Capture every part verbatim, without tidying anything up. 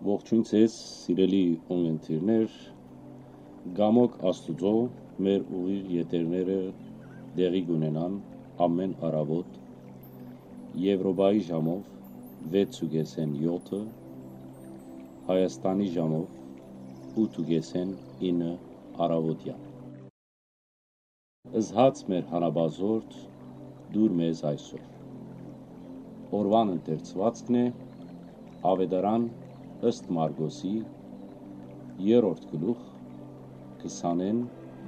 Ողջույն ձեզ, սիրելի ունգընտիրներ, գամոք Աստուծոյ մեր ուղիղ եթերները տեղի կունենան ամեն առավոտ Եվրոպայի ժամով վեց ու կեսեն յոթը, Հայաստանի ժամով ութ ու կեսեն ինը առավոտեան։ Զհաց մեր հանապազորդ, դուր մեզ այսօր։ Օրուան ընթերցուածքն է Աւետարան ըստ Մարկոսի, երրորդ գլուխ, քսանեն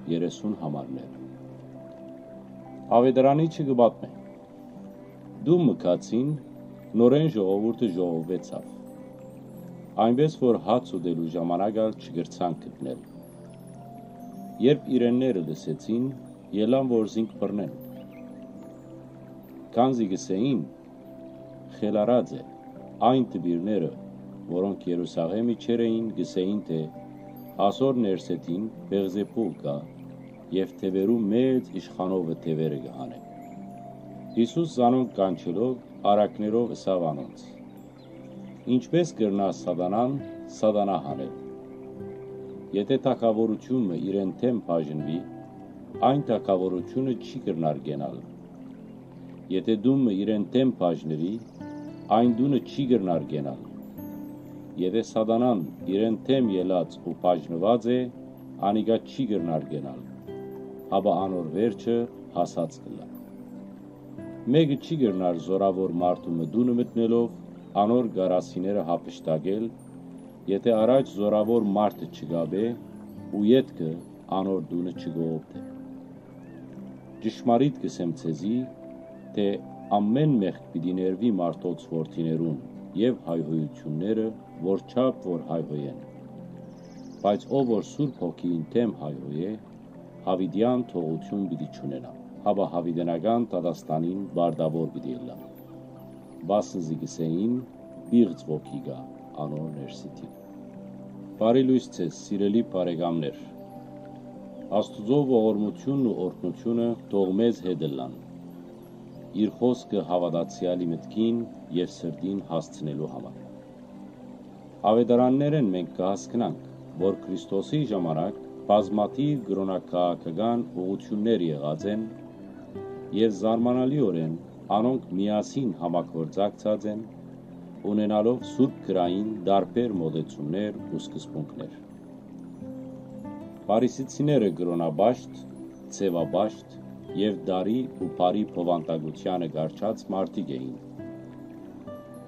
երեսուն համարները։ Աւետարանիչը կը պատմէ. Տուն մը գացին, նորէն ժողովուրդը ժողովուեցաւ, այնպէս որ հաց ուտելու ժամանակ ալ չկրցան գտնել։ Երբ իրենները լսեցին, ելան որ զինք բռնեն, քանզի կ'ըսէին. «Խելառած է»։ Այն դպիրները, որոնք Երուսաղէմ իջեր էին, կ'ըսէին թէ. «Ասոր Ներսէթին Բեղզեբուղ կայ եւ թեւերու մեծ իշխանովը թեւերը կը հանէ»։ Յիսուս զանոնք կանչելով, առակներով ըսաւ անոնց. «Ինչպէս կրնայ սատանան սատանայ հանել։ Եթէ թագաւորութիւն մը իրեն դէմ բաժնուի, այն թագաւորութիւնը չի կրնար կենալ։ Եթէ տուն մը իրեն դէմ բաժնուի, այն տունը չի կրնար կենալ։ Եթէ սատանան իրեն դէմ ելած ու բաժնուած է, անիկա չի կրնար կենալ, հապա անոր վերջը հասած կ'ըլլայ։ Մէկը չի կրնար զօրաւոր մարդու մը տունը մտնելով, անոր կարասիները յափշտակել, եթէ առաջ զօրաւոր մարդը չկապէ ու ետքը անոր տունը չկողոպտէ։ Ճշմարիտ կ'ըսեմ ձեզի, թէ ամէն մեղք պիտի ներուի մարդոց որդիներուն եւ հայհոյութիւնները, որ չափ որ հայհոյեն։ Բայց ով որ Սուրբ Հոգիին դէմ հայհոյէ, յաւիտեան թողութիւն պիտի չունենայ, հապա յաւիտենական դատաստանին պարտաւոր պիտի ըլլայ։ Վասն զի կ'ըսէին. «Պիղծ ոգի կայ անոր ներսիդին»։ Բարի լոյս ձեզ, սիրելի բարեկամներ։ Աստուծոյ ողորմութիւնն ու օրհնութիւնը թող մեզ հետ ըլլան, իր խօսքը հաւատացեալի մտքին եւ սրտին հասցնելու համար։ Աւետարաններէն մենք կը հասկնանք, որ Քրիստոսի ժամանակ բազմաթիւ կրօնակաղաքական ուղղութիւններ եղած են եւ զարմանալիօրէն անոնք միասին համագործակցած են, ունենալով Սուրբ Գրային տարբեր մօտեցումներ ու սկզբունքներ։ Փարիսեցիները կրօնապաշտ, ձեւապաշտ եւ տարի ու բարի բովանդակութեանը կառչած մարդիկ էին։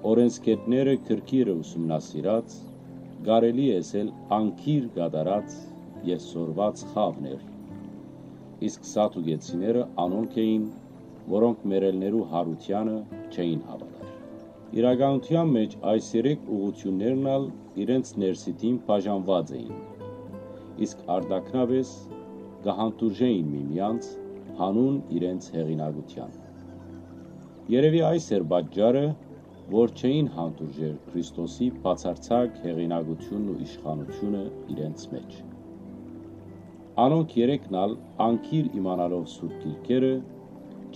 Օրէնսգետները գրքերը ուսումնասիրած, կարելի է ըսել անգիր կատարած եւ սորված խաւն էր, իսկ սադուկեցիները անոնք էին, որոնք մեռելներու յարութեանը չէին հաւատար։ Իրականութեան մէջ այս երեք ուղղութիւններն ալ իրենց ներսիդին բաժանուած էին, իսկ արտաքնապէս կը հանդուրժէին միմեանց յանուն իրենց հեղինակութեան։ Երեւի այս էր պատճառը, որ չէին հանդուրժեր Քրիստոսի բացարձակ հեղինակութիւնն ու իշխանութիւնը իրենց մէջ։ Անոնք երեքն ալ անգիր իմանալով Սուրբ Գիրքերը,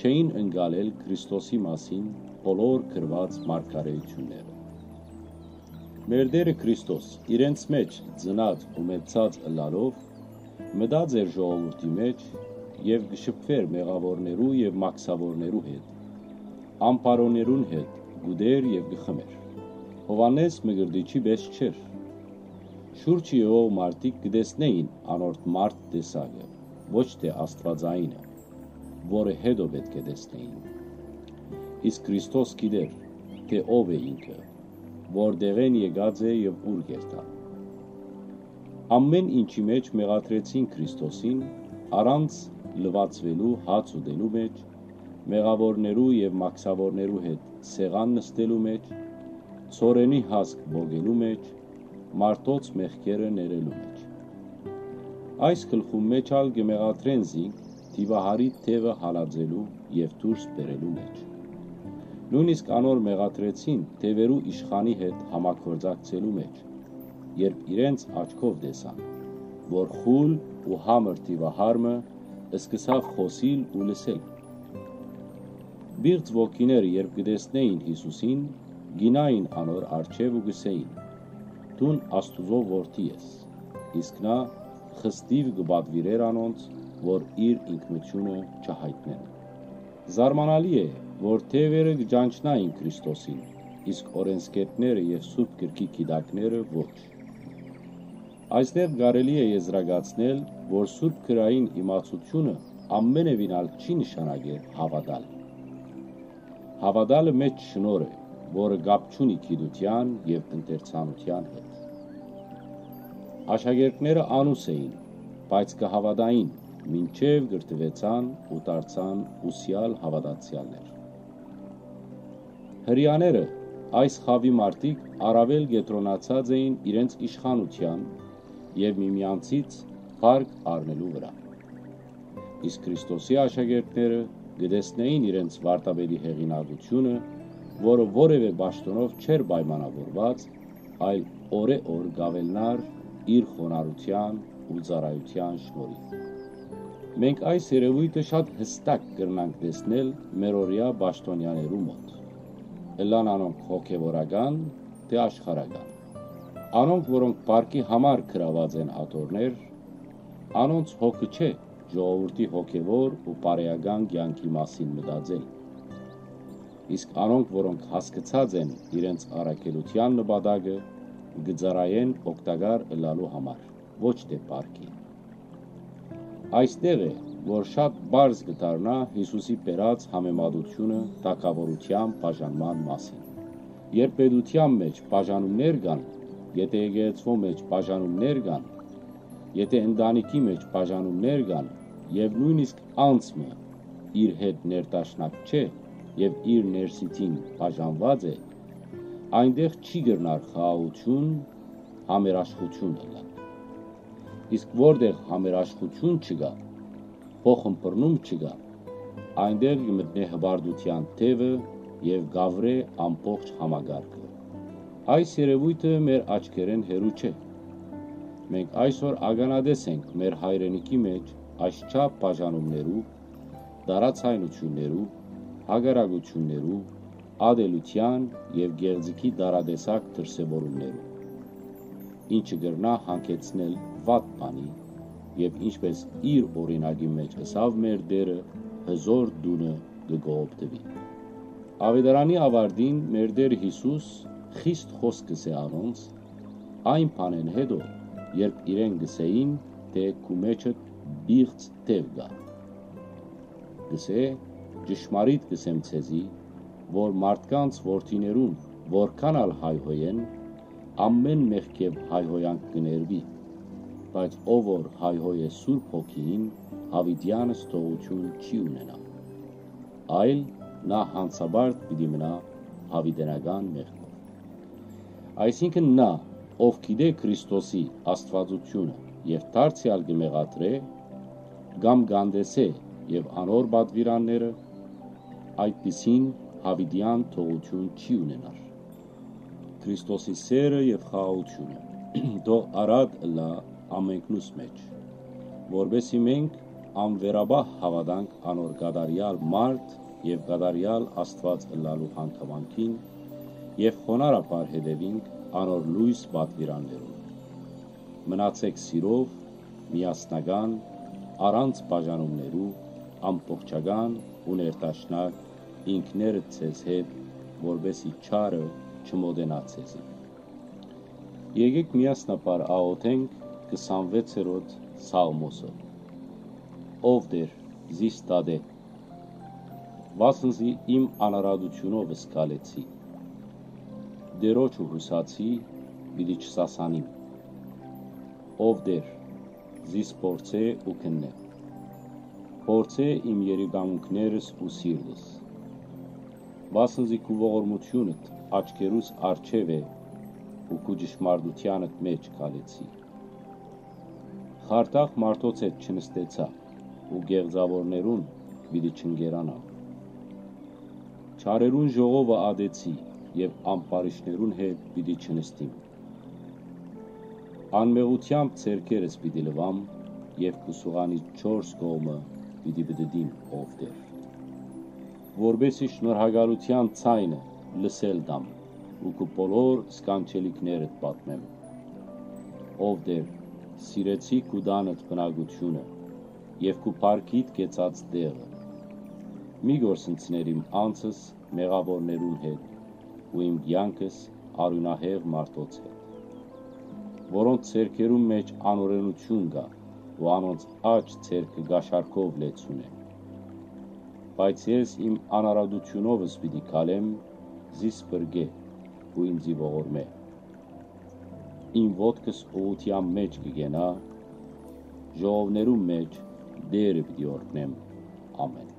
չէին ընկալել Քրիստոսի մասին բոլոր գրուած մարգարէութիւնները։ Մեր Տէրը Քրիստոս իրենց մէջ ծնած ու մեծցած ըլլալով, մտած էր ժողովուրդի մէջ եւ կը շփուէր մեղաւորներու եւ մաքսաւորներու հետ, ամբարոներուն հետ կ'ուտէր եւ կը խմէր։ Յովհաննէս Մկրտիչի պէս չէր։ Շուրջը եղող մարդիկ կը տեսնէին անոր մարդ տեսակը, ոչ թէ աստուածայինը, որը յետոյ պէտք է տեսնէին։ Իսկ Քրիստոս գիտէր, թէ ով է ինքը, որտեղէն եկած է եւ ուր կ'երթայ։ Ամէն ինչի մէջ մեղադրեցին Քրիստոսին, առանց լուացուելու հաց ուտելու մէջ, մեղաւորներու եւ մաքսաւորներու հետ սեղան նստելու մէջ, ցորենի հասկ պոկելու մէջ, մարդոց մեղքերը ներելու մէջ։ Այս գլխուն մէջ ալ կը մեղադրեն զինք դիւահարի թեւը հալածելու եւ դուրս բերելու մէջ։ Նոյնիսկ անոր մեղադրեցին թեւերու իշխանի հետ համագործակցելու մէջ, երբ իրենց աչքով տեսան, որ խուլ ու համր դիւահար մը սկսաւ խօսիլ ու լսել։ Պիղծ ոգիները, երբ կը տեսնէին Յիսուսին, գինային անոր առջեւ ու կ'ըսէին. դուն Աստուծոյ որդի ես»։ Իսկ նա խստիւ կը պատուիրէր անոնց, որ իր ինքնութիւնը չյայտնեն։ Զարմանալի է, որ թեւերը կը ճանչնային Քրիստոսին, իսկ օրէնսգետները եւ Սուրբ Գրքի գիտակները ոչ։ Այստեղ կարելի է եզրակացնել, որ Սուրբ Գրային իմացութիւնը ամենեւին ալ չի նշանակեր հաւատալ։ Հաւատալը մէջ շնորհ է, որը կապ չունի գիտութեան եւ ընթերցանութեան հետ։ Աշակերտները անուս էին, բայց կը հաւատային, մինչեւ կրթուեցան ու դարձան ուսեալ հաւատացեալներ։ Հրեաները, այս խաւի մարդիկ, առաւել կեդրոնացած էին իրենց իշխանութեան եւ միմյանցից փառք առնելու վրայ։ Իսկ Քրիստոսի աշակերտները կը տեսնէին իրենց վարդապետի հեղինակութիւնը, որը որեւէ պաշտօնով չէր պայմանաւորուած, այլ օրէ օր կ'աւելնար իր խոնարհութեան ու ծառայութեան շնորհիւ։ Մենք այս երեւոյթը շատ յստակ կրնանք տեսնել մերօրեայ պաշտօնեաներու մօտ, ըլլան անոնք հոգեվորական թէ աշխարհական։ Անոնք, որոնք փառքի համար գրաւած են աթոռներ, անոնց հոգը չէ ժողովուրդի հոգեվոր ու բարեական կեանքի մասին մտածել։ Իսկ անոնք, որոնք հասկցած են իրենց առաքելութեան նպատակը, կը ծառայեն օգտակար ըլլալու համար, ոչ թէ փառքի։ Այստեղ է, որ շատ պարզ կը դառնայ Յիսուսի բերած համեմատութիւնը թագաւորութեան բաժանման մասին։ Երբ պետութեան մէջ բաժանումներ կան, եթէ եկեղեցւոյ մէջ բաժանումներ կան, եթէ ընտանիքի մէջ բաժանումներ կան, եւ նոյնիսկ անձ մը իր հետ ներդաշնակ չէ եւ իր ներսիդին բաժանուած է, այնտեղ չի կրնար խաղաղութիւն, համերաշխութիւն ըլլալ։ Իսկ որտեղ համերաշխութիւն չկայ, փոխըմբռնում չկայ, այնտեղ կը մտնէ հպարտութեան թեւը եւ կ'ավրէ ամբողջ համակարգը։ Այս երեւոյթը մեր աչքերէն հեռու չէ։ Մենք այսօր ականատես ենք մեր հայրենիքի մէջ այսչափ բաժանումներու, տարաձայնութիւններու, հակառակութիւններու, ատելութեան եւ գեղձիքի տարատեսակ դրսեւորումներու, ինչը կրնայ հանգեցնել վատ բանի, եւ ինչպէս իր օրինակի մէջ ըսաւ մեր Տէրը, հզոր տունը կը կողոպտուի։ Աւետարանի աւարտին մեր Տէր Յիսուս խիստ խօսք կ'ըսէ անոնց, այն բանէն յետոյ, երբ իրեն կ'ըսէին, թէ «Քու մէջդ պիղծ թեւ կայ»։ Կ'ըսէ. «Ճշմարիտ կ'ըսեմ ձեզի, որ մարդկանց որդիներուն որքան ալ հայհոյեն, ամէն մեղքեւ հայհոյանք կը ներուի, բայց ով որ հայհոյ է Սուրբ Հոգիին, յաւիտեանս թողութիւն չի ունենայ, այլ նա յանցապարտ պիտի մնայ յաւիտենական մեղքով»։ Այսինքն՝ նա, ով գիտէ Քրիստոսի Աստուածութիւնը եւ դարձեալ կը մեղադրէ, կամ կ'անտեսէ եւ անոր պատուիրանները, այդպիսին յաւիտեան թողութիւն չի ունենար։ Քրիստոսի սէրը եւ խաղաղութիւնը թող առատ ըլլայ ամենքնուս մէջ, որպէս զի մենք անվերապահ հաւատանք անոր կատարեալ մարդ եւ կատարեալ Աստուած ըլլալու հանգամանքին եւ խոնարհաբար հետեւինք անոր լոյս պատուիրաններուն։ Մնացէք սիրով, միասնական, առանց բաժանումներու, ամբողջական ու ներդաշնակ, ինքներդ ձեզ հետ, որպէս զի չարը չմոտենայ ձեզի։ Եկէք միասնաբար աղօթենք քսանվեցերորդ Սաղմոսը։ Ով Տէր, զիս դատէ, վասն զի իմ անարատութիւնովս քալեցի։ Տէրոջը յուսացի, պիտի չսասանիմ։ Ով Տէր, զիս փորձէ ու քննէ։ Փորձէ իմ երիկամունքներս ու սիրտս, վասն զի քու ողորմութիւնդ աչքերուս առջեւ է ու քու ճշմարտութեանդ մէջ քալեցի։ Խարդախ մարդոց հետ չնստեցայ ու կեղծաւորներուն պիտի չընկերանամ։ Չարերուն ժողովը ատեցի եւ ամբարիշներուն հետ պիտի չնստիմ։ Անմեղութեամբ ձեռքերս պիտի լուամ եւ քու սուղանիդ չորս կողմը պիտի պտտիմ, ով Տէր, որպէս զի շնորհակալութեան ձայնը լսել տամ ու քու բոլոր սքանչելիքներդ պատմեմ։ Ով Տէր, սիրեցի քու տանդ բնակութիւնը եւ քու փառքիդ կեցած տեղը։ Մի կորսնցներ իմ անձս մեղաւորներուն հետ ու իմ կեանքս արիւնահեղ մարդոց հետ, որոնց ձեռքերուն մէջ անօրէնութիւն կայ ու անոնց աջ ձեռքը կաշառքով լեցուն է։ Բայց ես իմ անարատութիւնովս պիտի քալեմ, զիս փրկէ ու ինծի ողորմէ։ Իմ ոտքս ուղղութեան մէջ կը կենայ, ժողովներուն մէջ Տէրը պիտի օրհնեմ։ Ամէն։